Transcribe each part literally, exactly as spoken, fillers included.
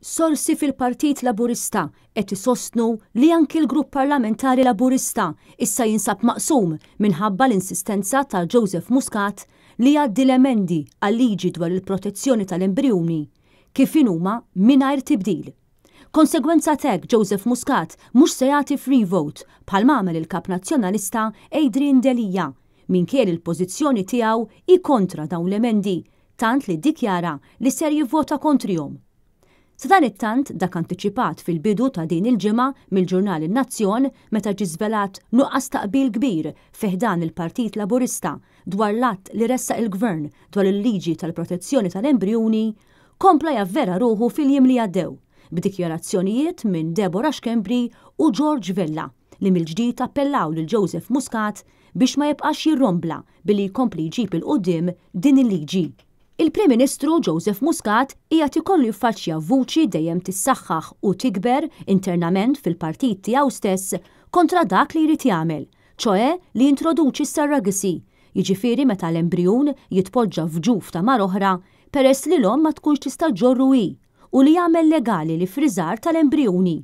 Sorsi fil-Partit Laburista qed isostnu li anki l-Grupp Parlamentari Laburista issa jinsab maqsum minħabba l-insistenza ta' Joseph Muscat li jgħaddi l-emendi għal-liġi dwar il-protezzjoni tal-embrijuni kif inhuma mingħajr tibdil. Konsegwenza t'hekk, Joseph Muscat mhux se jagħti free vote bħal m'għamel il-Kap Nazzjonalista Adrian Delia, minkejja il-pożizzjoni tiegħu hi kontra dawn l-emendi, tant li ddikjara li ser jivvota kontrihom. Sadanittant, dak antiċipat fil-bidu ta' din il-ġimgħa mill-ġurnal In-Nazzjon, meta ġie żvelat nuqqas ta' qbil kbir fi ħdan il-Partit Laburista dwar l-att li ressaq il-Gvern dwar il-liġi tal-protezzjoni tal-embrijuni, kompla javvera ruħu fil-jiem li għaddew b'dikjarazzjonijiet minn Deborah Schembri u George Vella, li mill-ġdid appellaw lil Joseph Muscat biex ma jibqax jirrombla billi jkompli jġib 'il quddiem din il-liġi. Il-Prim Ministru Joseph Muscat qiegħed ikollu jiffaċċja vuċi dejjem tissaħħaħ u tikber internament fil-partit tiegħu stess kontra dak li jrid jagħmel, ċoè li jintroduċi s-surrogacy, jiġifieri meta l-embrijun jitpoġġa f'ġuf ta' mara oħra peress li l-omm ma tkunx tista' ġorru hi, u li jagħmel legali l-iffriżar tal-embrijuni.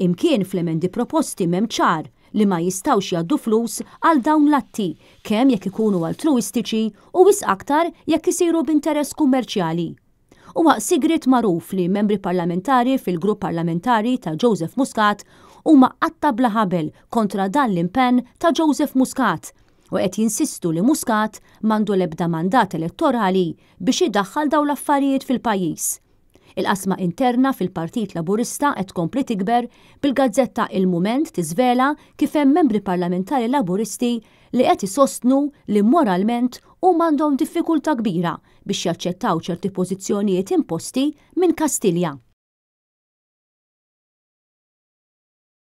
Imkien fl-emendi proposti m'hemm ċar li ma jistgħux jgħaddu flus għal dawn l-atti, kemm jekk ikunu altruistiċi u wisq aktar jekk isiru b'interess kummerċjali. Huwa sigriet magħruf li membri parlamentari fil-grupp parlamentari ta' Joseph Muscat huma qatta bla ħabel kontra dan l-impenn ta' Joseph Muscat u qed jinsistu li Muscat m'għandu l-ebda mandat elettorali biex idaħħal dawn l-affarijiet fil-pajjiż. Il-qasma interna fil-Partit Laburista qed tkompli tikber, bil-gazzetta Il-Mument tiżvela kif hemm membri parlamentari Laburisti li qed isostnu li moralment huma għandhom diffikultà kbira biex jaċċettaw ċerti pożizzjonijiet imposti minn Kastilja.